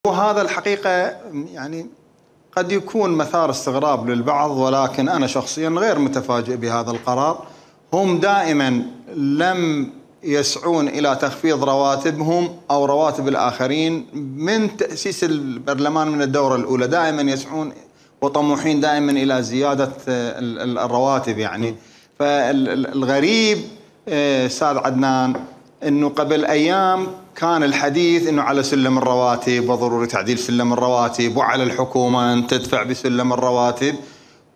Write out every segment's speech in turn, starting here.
وهذا الحقيقة يعني قد يكون مثار استغراب للبعض، ولكن أنا شخصيا غير متفاجئ بهذا القرار. هم دائما لم يسعون إلى تخفيض رواتبهم أو رواتب الآخرين من تأسيس البرلمان من الدورة الأولى، دائما يسعون وطموحين دائما إلى زيادة الرواتب يعني. فالغريب أستاذ عدنان أنه قبل أيام كان الحديث أنه على سلم الرواتب وضروري تعديل سلم الرواتب وعلى الحكومة أن تدفع بسلم الرواتب،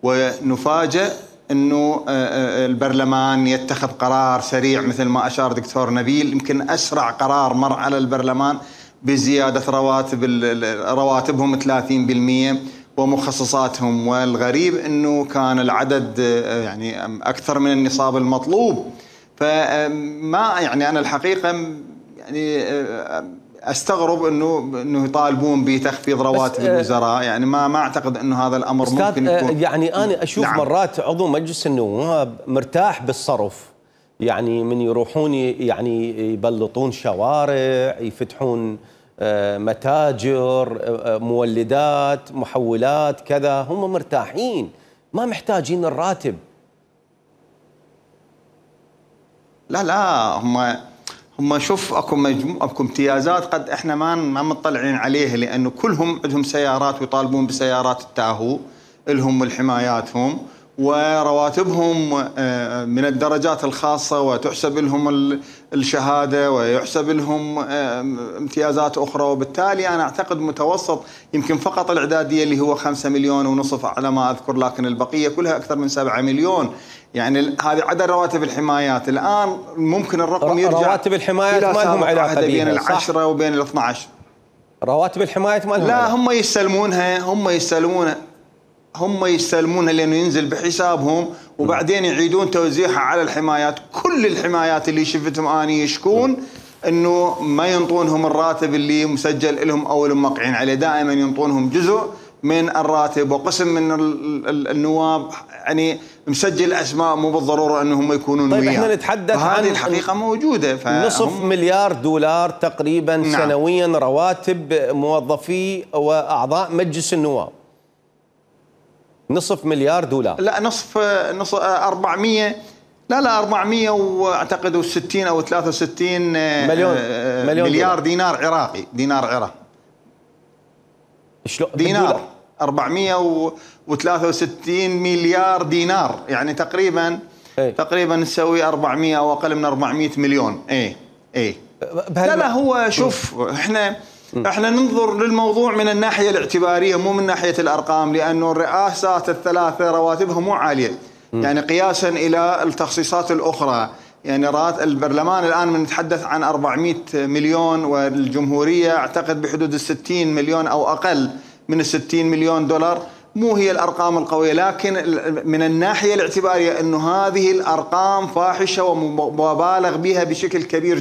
ونفاجأ أنه البرلمان يتخذ قرار سريع مثل ما أشار دكتور نبيل، يمكن أسرع قرار مر على البرلمان بزيادة رواتبهم 30% ومخصصاتهم. والغريب أنه كان العدد يعني أكثر من النصاب المطلوب. فما يعني أنا الحقيقة يعني استغرب انه يطالبون بتخفيض رواتب الوزراء، يعني ما اعتقد انه هذا الامر ممكن يكون. يعني انا اشوف نعم. مرات عضو مجلس النواب مرتاح بالصرف، يعني من يروحون يعني يبلطون شوارع، يفتحون متاجر، مولدات، محولات، كذا، هم مرتاحين ما محتاجين الراتب. لا هم شوف اكو امتيازات قد احنا ما مطلعين عليها، لانه كلهم عندهم سيارات ويطالبون بسيارات التاهو لهم والحماياتهم، ورواتبهم من الدرجات الخاصة وتحسب لهم الشهادة ويحسب لهم امتيازات أخرى. وبالتالي أنا أعتقد متوسط يمكن فقط الإعدادية اللي هو 5.5 مليون على ما أذكر، لكن البقية كلها أكثر من 7 مليون. يعني هذه عدد رواتب الحمايات. الآن ممكن الرقم يرجع رواتب الحمايات ما لهم علاقة بين 10 وبين 12. رواتب الحمايات ما لهم لا علاقة. هم يستلمونها لأنه ينزل بحسابهم، وبعدين يعيدون توزيعها على الحمايات. كل الحمايات اللي شفتهم أني يشكون أنه ما ينطونهم الراتب اللي مسجل لهم أو اللي موقعين عليه، دائما ينطونهم جزء من الراتب، وقسم من النواب يعني مسجل أسماء مو بالضرورة أنهم يكونون طيب وياه. احنا نتحدث عن هذه الحقيقة موجودة. نصف مليار دولار تقريبا نعم. سنويا رواتب موظفي وأعضاء مجلس النواب. نصف مليار دولار. لا نصف 400 لا 400 واعتقد 60 او 63 مليار دينار عراقي. دينار عراقي شلون؟ دينار 463 مليار دينار، يعني تقريبا نسوي 400 او اقل من 400 مليون. لا هو شوف احنا ننظر للموضوع من الناحية الاعتبارية مو من ناحية الارقام، لانه الرئاسات الثلاثة رواتبها مو عالية يعني قياسا الى التخصيصات الاخرى. يعني البرلمان الان بنتحدث عن 400 مليون، والجمهورية اعتقد بحدود 60 مليون او اقل من 60 مليون دولار. مو هي الارقام القوية، لكن من الناحية الاعتبارية انه هذه الارقام فاحشة ومبالغ بها بشكل كبير.